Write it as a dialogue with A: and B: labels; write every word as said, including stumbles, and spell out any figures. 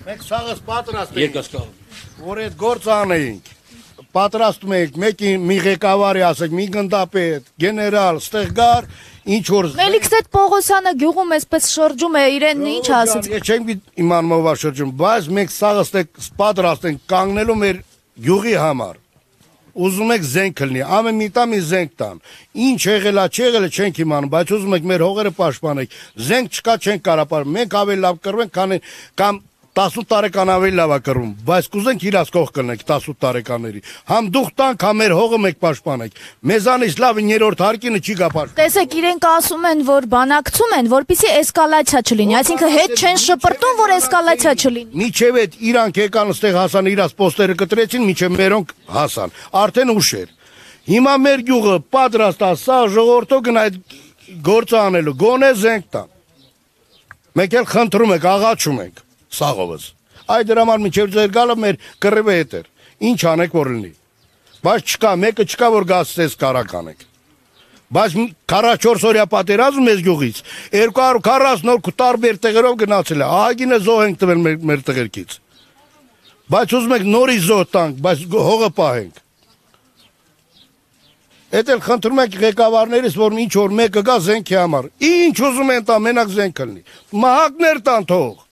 A: Մենք սաղս պատրաստ ենք, որ այդ գործ անեինք, պատրաստում ենք, մեկին մի ղեկավարի ասեք, մի գնդապետ, գեներալ, ստեղ գար, ինչ որ...
B: Մելիքսետ Պողոսյանը գյուղում էսպես շրջում է, իրեն ինչ ասեց։
A: Ես չեմ իմանում ով է շրջում, բայց մենք սաղս պատրաստ ենք կանգնելու մեր գյուղի համար։ Ուզում եք զենք լինի, ամեն մի տամ մի զենք տան, ինչ եղել է, չեղել է չենք իմանում, բայց ուզում եք մեր հողերը պաշտպանենք, զենք չկա չենք կարող պաշտպանել, մենք ավելի լավ կռվենք, քան կամ տասութ տարեկան ավելի լավ է կռվում, բայց կուզենք իրաց կողք կլնենք տասութ տարեկանների, համ դուխ տանք, համ մեր հողը մեկ պաշտպանենք, մեզանից լավ երրորդ հարկինը չի գա պաշտպանել։
B: Տեսեք, իրենք ասում են, որ բանակցում են, որպեսզի էսկալացիա չլինի, այսինքն հետ չեն շպրտում, որ էսկալացիա չլինի։
A: Միջև այդ իրանք եկան ստեղ հասան, իրաց պոստերը կտրեցին, միջև մերոնք հասան, արդեն ուշ էր։ Հիմա մեր գյուղը պատրաստ է, սա ժողովրդը գնա այդ գործը անելու, գոնե զենք տան։ Մենք էլ խնդրում ենք, աղաչում ենք սաղովս։ Այդ դրա համար միջև ձեր գալը մեր կռիվը հետ էր։ Ինչ անեք որ լինի։ Բայց չկա, մեկը չկա որ գացես կարակ անեք։ Բայց քառասունչորս օրյա պատերազմ մեզ գյուղից երկու հարյուր քառասուն օր տարբեր տեղերով գնացել է։ Ահագինը զոհ ենք տվել մեր, մեր տղերքից։ Բայց ուզում ենք նորից զոհ տանք, բայց հողը պահենք։ Էդ էլ խնդրում ենք ղեկավարներից, որ ինչ որ մեկը գա զենքի համար։ Ինչ ուզում են տա, մենակ զենք լինի։ Մահակներ տան թող։